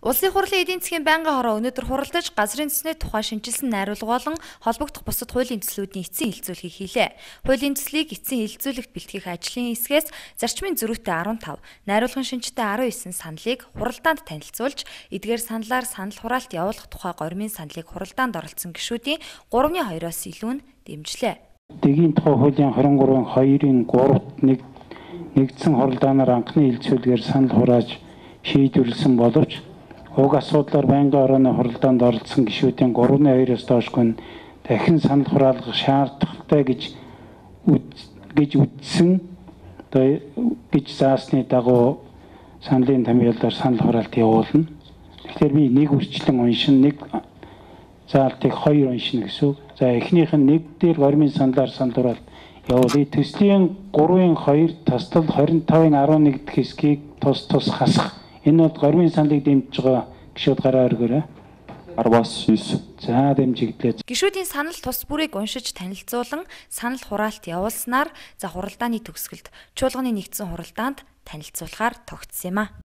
Улсын хурлын эдийн засгийн байнгын хороо өнөөдөр хуралдаж газрын төсний тухай шинжилсэн найруулга болон холбогдох бусад хуулийн төслүүдийн эцсийн хэлэлцүүлгийг хийлээ. Хуулийн төслийг эцсийн хэлэлцүүлэгт бэлтгэх ажлын хэсгээс зарчмын зөрүүтэй 15, найруулгын шинжтэй 19 саналыг хуралдаанд танилцуулж, эдгээр саналаар санал хураалт явуулах тухай гормын саналыг хуралдаанд оролцсон гишүүдийн 3-2-оос илүү нь дэмжлээ. Дэгийн тухай хуулийн 23-2-ын 3-т нэгдсэн хуралдаанаар анхны хэлэлцүүлгээр санал хурааж шийдвэрлсэн боловч уг асуудлаар байнгын орооны хуралдаанд оролцсон гишүүдийн 3-2-оос доошгүй дахин санал хураалгах шаардлагатай гэж үзсэн гэж заасны дагуу саналын томьёолоор санал хураалт явуулна. Тэгэхээр би нэг үрчлэн уншин, нэг заалтыг 2 уншина гэсэн үг. За эхнийх нь нэг дээр гормын саналаар санал хураалт явуулъя. Төслийн 3-2 тасдал 25-11 дэх хэсгийг тус хасах. Энэ бол гормын саналыг дэмжиж байгаа гишүүд гараа өргөөрэй. 10-9. За дэмжигдлээ. Гишүүдийн санал тус бүрийг уншиж танилцуулан санал хураалт явуулснаар хуралдааны төгсгөлд чуулганы нэгдсэн хуралдаанд танилцуулахаар тогтсон юм а.